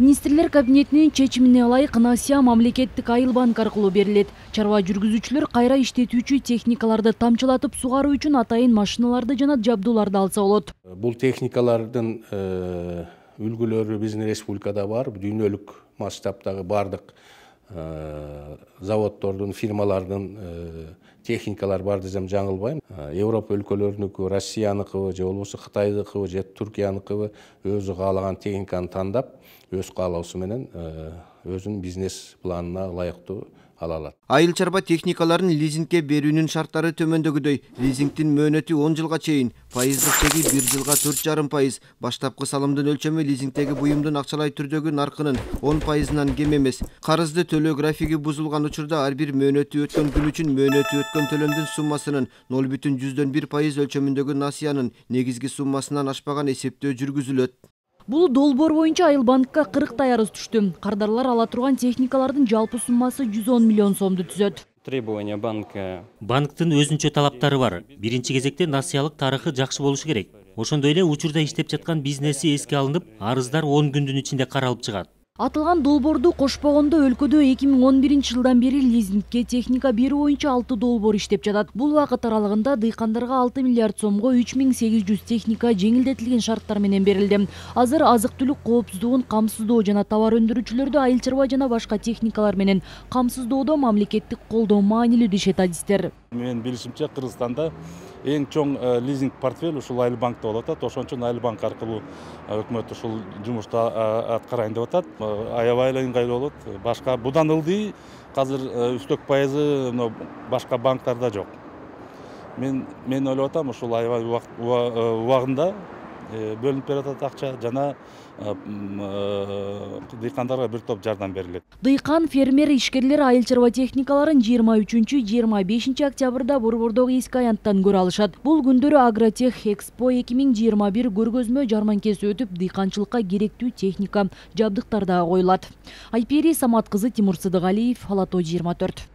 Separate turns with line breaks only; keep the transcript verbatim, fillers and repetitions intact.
Министрлер кабинетинин чечимине ылайык насыя мамлекеттик айыл банк аркылуу берилет. Чарба жүргүзүүчүлөр кайра иштетүүчү техникаларды тамчылатып сугаруу үчүн атайын машиналарды жана жабдууларды алса болот.
Бул техникалардын үлгүлөрү биздин республикада бар. Дүйнөлүк масштабтагы бардык заводдордун, фирмалардын техникалар бар десем жаңылбайм. Европа өлкөлөрүнүкү, Россияныкыбы, же болбосо Кытайдыкыбы, же Түркияныкыбы өзү каалаган техниканы тандап, өз каалоосу менен өзүнүн бизнес планына ылайыктуу ала алат.
Айыл чарба техникаларын лизингке берүүнүн шарттары төмөндөгүдөй. Лизингдин мөөнөтү он жылга чейин, пайыздык чеги бир жылга төрт жарым пайыз. Баштапкы салымдын өлчөмү лизингдеги буюмдун акчалай түрдөгү наркынын он пайызынан кем эмес. Карызды төлөө графиги бузулган учурда ар бир мөөнөтү өткөн күн үчүн мөөнөтү өткөн төлөмдүн суммасынын ноль бүтүн жүздөн бир пайыз өлчөмүндөгү насыянын негизги суммасынан ашпаган эсептөө жүргүзүлөт.
Бул долбоор боюнча Айыл банкка кырктай арыз түштү. Кардарлар ала турган техникалардын жалпы суммасы жүз он миллион сомду түзөт.
Требования банка.
Банктын өзүнчө талаптары бар. Биринчи кезекте насыялык тарыхы жакшы болушу керек. Ошондой эле учурда иштеп жаткан бизнеси эске алынып, арыздар он күндүн ичинде каралып чыгат.
Атылган долбоорду кошпогондо өлкөдө эки миң он биринчи жылдан бери лизингке техника берүү боюнча алты долбоор иштеп жатат. Бул убакыт аралыгында дыйкандарга алты миллиард сомго үч миң сегиз жүз техника жеңилдетилген шарттар менен берилди. Азыр азык-түлүк коопсуздугун камсыздоо жана товар өндүрүүчүлөрдү айыл чарба жана башка техникалар менен камсыздоодо мамлекеттик колдоо маанилүү дешет адистер.
Менин билишимче Кыргызстанда эң чоң лизинг портфель ушул Айыл банкта болуп атат. Ошон үчүн Айыл банк аркылуу өкмөт ушул жумушту аткарайын деп атат. Аябай эле ыңгайлуу болот. Башка будан ылдый азыр үстөк пайызы башка банктарда жок. Мен мен ойлоп атам, ушул аябай убагында бөлүнүп берет акча жана дыйкандарга бир топ жардам берилет.
Дыйкан, фермер, ишкерлер айыл чарба техникаларын жыйырма үчүнчү — жыйырма бешинчи октябрда Борбордогу эски аянттан көрө алышат. Бул күндөрү Агротех Экспо эки миң жыйырма бир көргөзмө жарманкеси өтүп, дыйканчылыкка керектүү техника, жабдыктар да коюлат. Айпери Самат кызы, Тимур Сыдыгалиев, Ала Тоо жыйырма төрт.